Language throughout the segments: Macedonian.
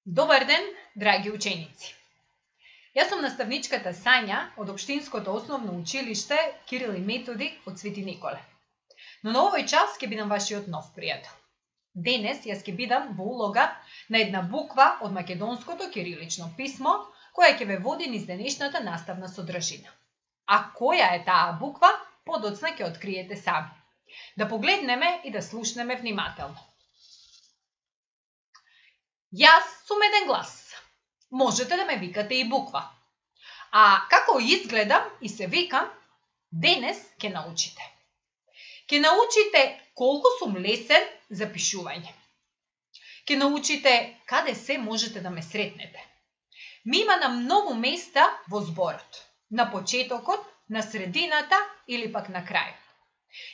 Добар ден, драги ученици! Јас сум наставничката Сања од Општинското основно училиште Кирил и Методи од Свети Николе. Но на овој час ќе бидам вашиот нов пријател. Денес јас ќе бидам во улога на една буква од македонското кирилично писмо, која ќе ве води низ денешната наставна содржина. А која е таа буква, подоцна ќе откриете сами. Да погледнеме и да слушнеме внимателно. Јас сум еден глас. Можете да ме викате и буква. А како изгледам и се викам, денес ќе научите. Ќе научите колку сум лесен за пишување. Ќе научите каде се можете да ме сретнете. Ми има на многу места во зборот. На почетокот, на средината или пак на крајот.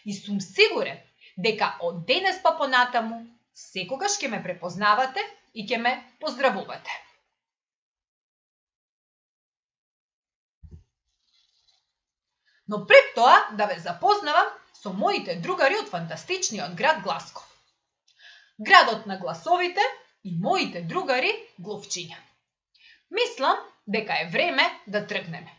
И сум сигурен дека од денес па понатаму секогаш ќе ме препознавате и ќе ме поздравувате. Но пред тоа да ве запознавам со моите другари од фантастичниот град Гласков. Градот на гласовите и моите другари глувчиња. Мислам дека е време да тргнеме.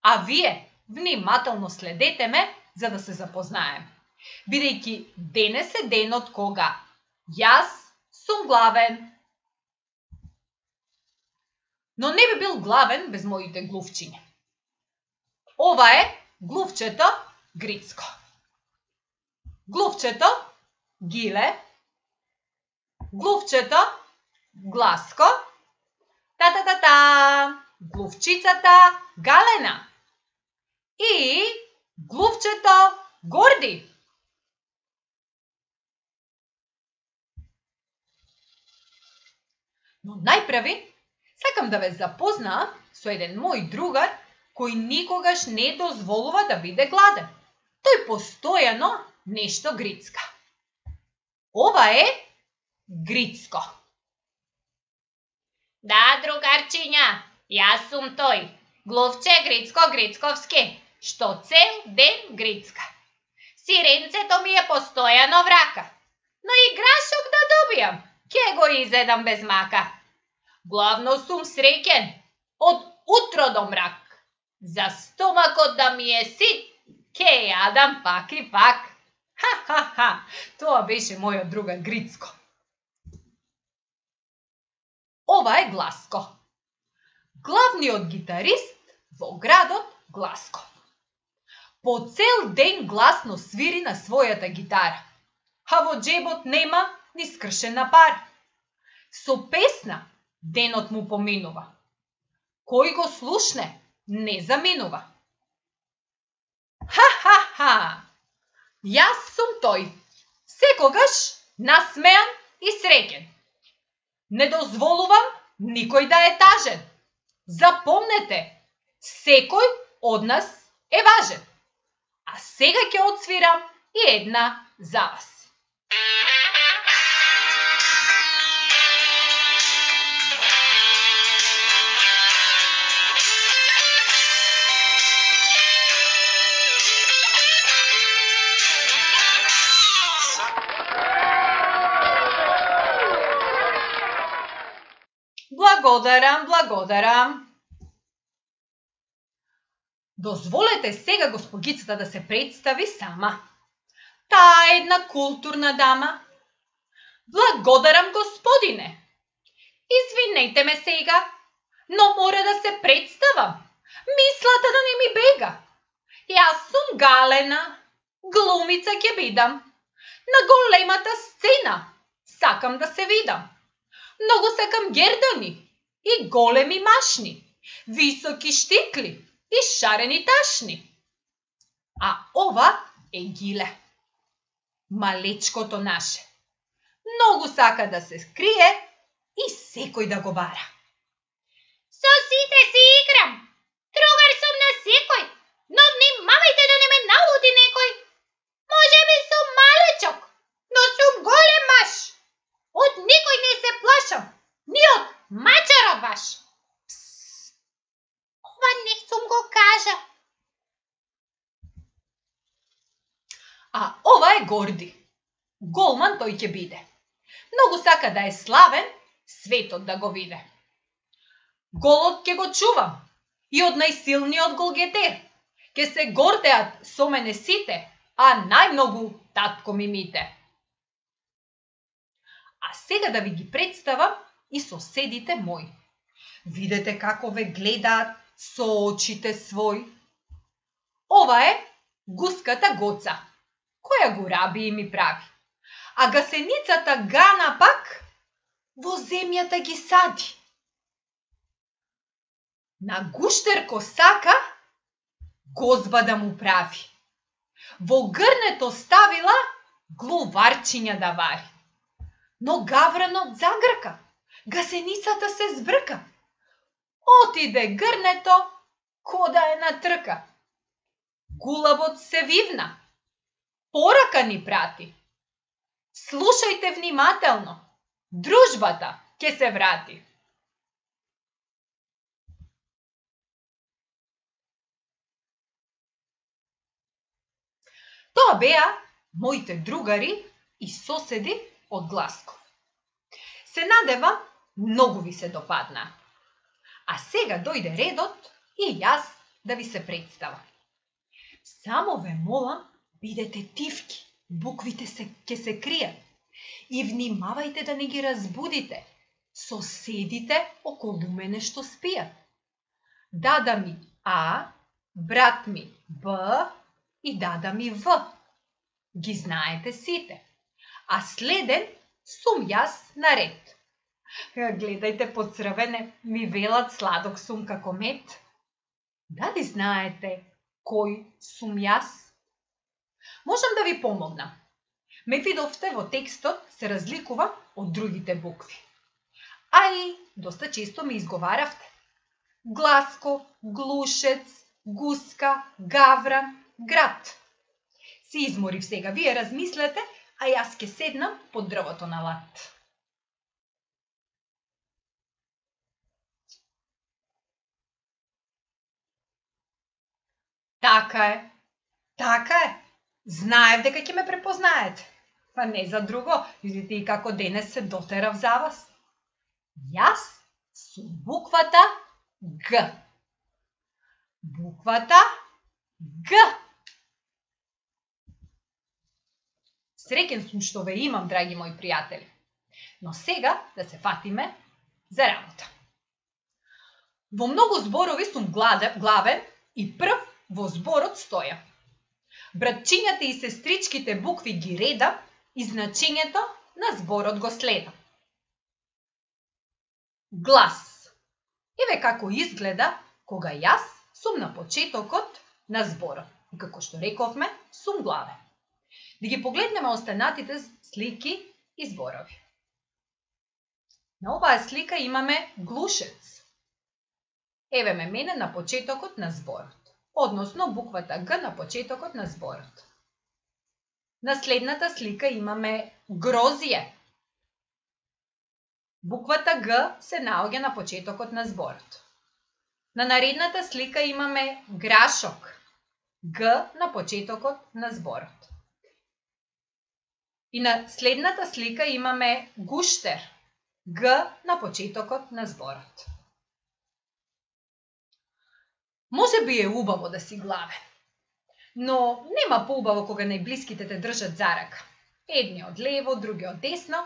А вие внимателно следете ме за да се запознаеме. Бидејќи денес е денот кога јас сум главен. Но не би бил главен без моите глувчиња. Ова е глувчето Грицко. Глувчето Гиле. Глувчето Гласко. Та-та-та-та. Глувчицата Галена. И глувчето Горди. Но најпрви сакам да ве запознаам со еден мој другар кој никогаш не дозволува да биде гладен. Тој постојано нешто грицка. Ова е Грицко. Да, другарчиња, јас сум тој, глувче Грицко Грицковски, што цел ден грицка. Сиренцето ми е постојано врака, но и грашок да добијам, ќе го изедам без мака. Главно сум среќен, од утро до мрак. За стомакот да ми е сит, ќе јадам пак и пак. Ха-ха-ха, тоа беше мојот другар Грицко. Ова е Гласко. Главниот гитарист во градот Гласко. По цел ден гласно свири на својата гитара, а во џебот нема ни скршена пара. Со песна денот му поминува. Кој го слушне, не заминува. Ха-ха-ха! Јас сум тој, секогаш насмеан и среќен. Не дозволувам никој да е тажен. Запомнете, секој од нас е важен. А сега ќе отсвирам и една за вас. Благодарам. Дозволете сега госпогицата да се представи сама. Таа е една културна дама. Благодарам, господине. Извинете ме сега, но мора да се представам. Мислата да не ми бега. Јас сум Галена, глумица ќе бидам. На големата сцена сакам да се видам. Многу сакам гердани и големи машни, високи штикли и шарени ташни. А ова е Гиле, малечкото наше. Многу сака да се скрие и секој да го бара. Со сите си играм, другар сум на секој, но внимавајте да не ме науди некој. Може би сум малечок, но сум голем маш. Од никој не се плашам, ни од мачарот ваш. Псс, ова не сум го кажа. А ова е Горди. Голман тој ќе биде. Многу сака да е славен светот да го виде. Голот ќе го чувам и од најсилниот голгетер ќе се гордеат со мене сите, а најмногу татко ми мите. А сега да ви ги представам и соседите мои. Видете како ве гледаат со очите свој. Ова е гуската Гоца, која го раби и ми прави. А гасеницата Гана пак во земјата ги сади. На гуштерко сака гозба да му прави. Во грнето ставила глуварчиња да вари. Но гавранот загрка, гасеницата се збрка. Отиде грнето ко да е на трка. Гулабот се вивна, порака ни прати. Слушајте внимателно, дружбата ќе се врати. Тоа беа моите другари и соседи од Гласко. Се надевам, многу ви се допадна. А сега дојде редот и јас да ви се представам. Само ве молам, бидете тивки, буквите ќе се кријат. И внимавајте да не ги разбудите соседите околу мене што спијат. Дада ми А, брат ми Б и дада ми В. Ги знаете сите. А следен сум јас наред. Гледајте поцрвене, ми велат сладок сум како мед. Дали знаете кој сум јас? Можам да ви помогнам. Ме видовте во текстот се разликува од другите букви. А и доста често ми изговаравте. Гласко, глушец, гуска, гавран, град. Си изморив сега, вие размислете, а јас ќе седнам под дрвото на лад. Така е, така е. Знаев дека ќе ме препознаете. Па не за друго, видите и како денес се дотерав за вас. Јас сум буквата Г. Буквата Г. Среќен сум што ве имам, драги мои пријатели. Но сега да се фатиме за работа. Во многу зборови сум главен и прв во зборот стоја. Братчињата и сестричките букви ги редам и значењето на зборот го следам. Глас. Еве како изгледа кога јас сум на почетокот на зборот. И како што рековме, сум главен. Да ги погледнеме останатите слики и зборови. На оваа слика имаме глушец. Еве ме мене на почетокот на зборот. Односно буквата Г на почетокот на зборот. На следната слика имаме грозие. Буквата Г се наоѓа на почетокот на зборот. На наредната слика имаме грашок. Г на почетокот на зборот. И на следната слика имаме гуштер. Г на почетокот на зборот. Може би е убаво да си главен, но нема поубаво кога најблиските те држат за рака. Едни од лево, други од десно,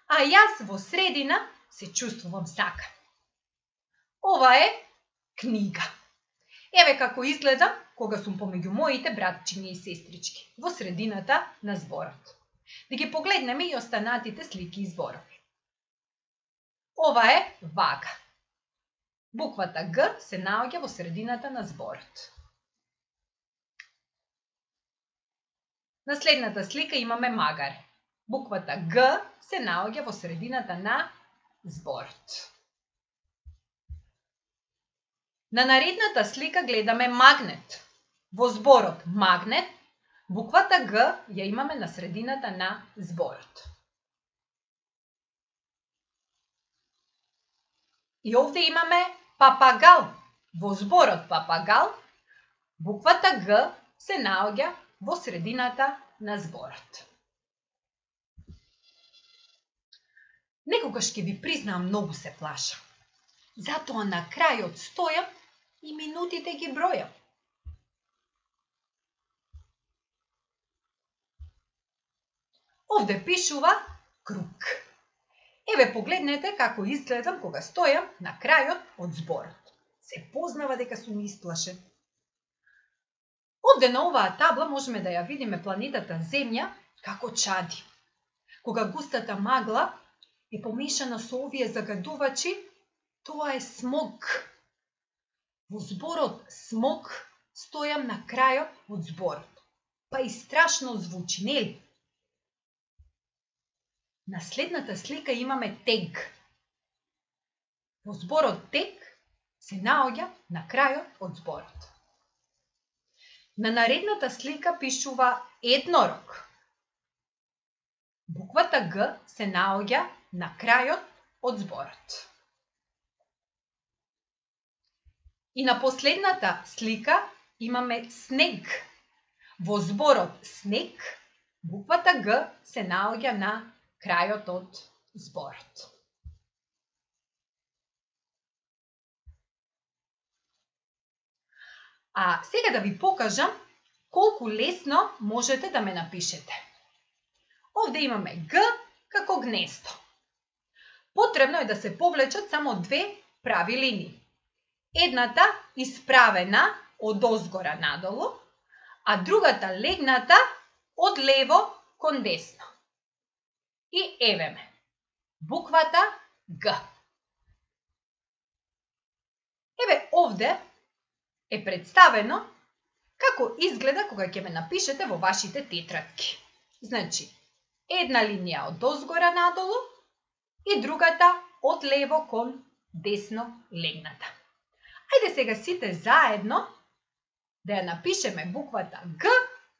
а јас во средина се чувствувам сака. Ова е книга. Еве како изгледам кога сум помеѓу моите братчиња и сестрички, во средината на зборот. Да ги погледнеме и останатите слики и зборови. Ова е вага. Буквата Г се наоѓа во средината на зборот. На следната слика имаме магаре. Буквата Г се наоѓа во средината на зборот. На наредната слика гледаме магнет. Во зборот магнет, буквата Г ја имаме на средината на зборот. И овде имаме папагал. Во зборот папагал, буквата Г се наоѓа во средината на зборот. Некогаш ќе ви признам, многу се плашам. Затоа на крајот стојам и минутите ги бројам. Овде пишува круг. Еве погледнете како изгледам кога стојам на крајот од зборот. Се познава дека сум исплашен. Овде на оваа табла можеме да ја видиме планетата Земја како чади. Кога густата магла е помешана со овие загадувачи, тоа е смог. Во зборот смог стојам на крајот од зборот. Па и страшно звучи, нели? На следната слика имаме тег. Во зборот тег се наоѓа на крајот од зборот. На наредната слика пишува еднорог. Буквата Г се наоѓа на крајот од зборот. И на последната слика имаме снег. Во зборот снег, буквата Г се наоѓа на крајот од зборот. А сега да ви покажам колку лесно можете да ме напишете. Овде имаме Г како гнездо. Потребно е да се повлечат само две прави линии. Едната исправена од озгора надолу, а другата легната од лево кон десно. И еве ме, буквата Г. Еве овде е представено како изгледа кога ќе ме напишете во вашите тетрадки. Значи, една линија од озгора надолу и другата од лево кон десно легната. Ајде сега сите заедно да ја напишеме буквата Г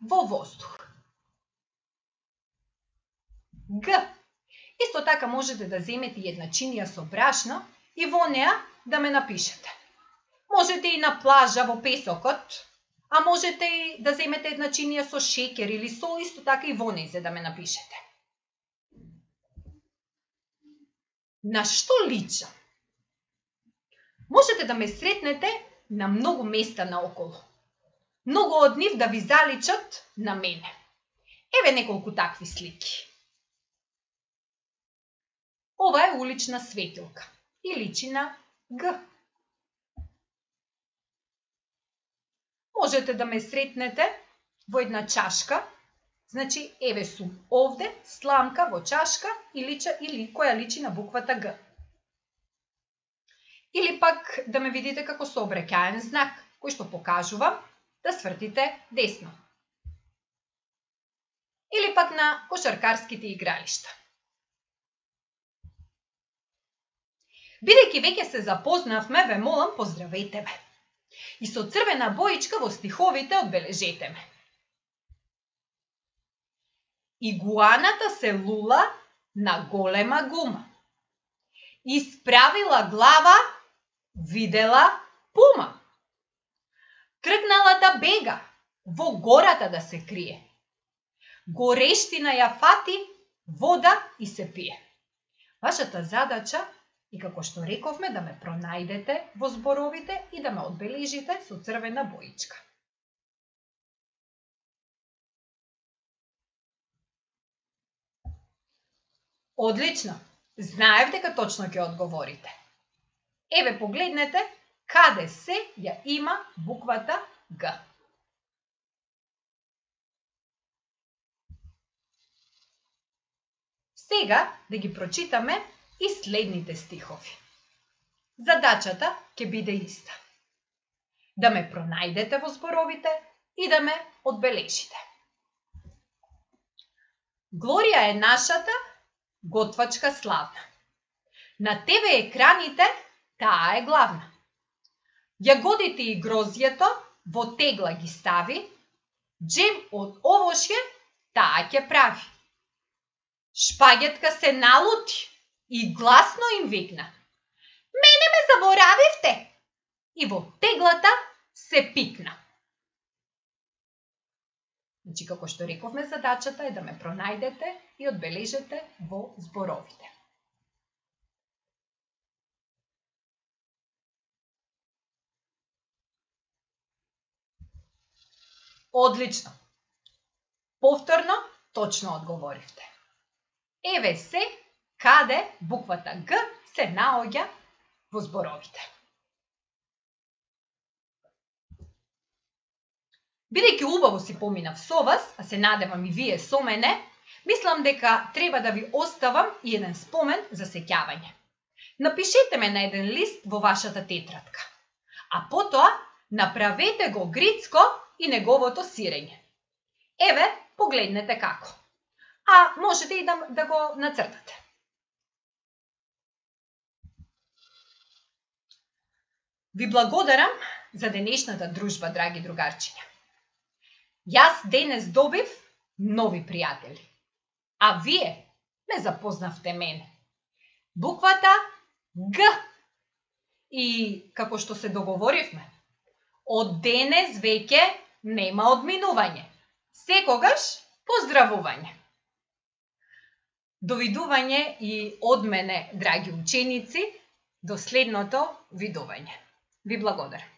во воздух. Г. Исто така можете да земете едначинија со брашно и во неа да ме напишете. Можете и на плажа во песокот, а можете и да земете едначинија со шеќер или сол, исто така и во нејзе да ме напишете. На што личам? Можете да ме сретнете на многу места наоколу. Многу од нив да ви заличат на мене. Еве неколку такви слики. Ова е улична светилка и личи на Г. Можете да ме сретнете во една чашка, значи еве сум овде, сламка во чашка или која личи на буквата Г. Или пак да ме видите како сообраќаен знак, кој што покажува да свртите десно. Или пак на кошаркарските игралишта. Бидејќи веќе се запознавме, ве молам, поздравете ме. И со црвена боичка во стиховите одбележете ме. Игуаната се лула на голема гума. Исправила глава, видела пума. Тргнала да бега, во гората да се крие. Горештина ја фати, вода и се пие. Вашата задача и како што рековме, да ме пронајдете во зборовите и да ме одбележите со црвена боичка. Одлично! Знаев дека точно ќе одговорите. Еве погледнете каде се ја има буквата Г. Сега да ги прочитаме и следните стихови. Задачата ќе биде иста. Да ме пронајдете во зборовите и да ме одбележите. Глорија е нашата готвачка славна. На ТВ екраните таа е главна. Јагодите и грозјето во тегла ги стави, джем од овошје таа ќе прави. Шпагетка се налути и гласно им викна: "Мене ме заборавивте!" И во теглата се пикна. Значи, како што рековме, задачата е да ме пронајдете и одбележете во зборовите. Одлично. Повторно, точно одговоривте. Еве се каде буквата Г се наоѓа во зборовите. Бидејќи убаво си поминав со вас, а се надевам и вие со мене, мислам дека треба да ви оставам и еден спомен за сеќавање. Напишете ме на еден лист во вашата тетрадка, а потоа направете го Грицко и неговото сирење. Еве, погледнете како. А можете и да го нацртате. Ви благодарам за денешната дружба, драги другарчиња. Јас денес добив нови пријатели, а вие ме запознавте мене. Буквата Г. И како што се договоривме, од денес веќе нема одминување. Секогаш поздравување. Довидување и од мене, драги ученици, до следното видување. Ви благодарам.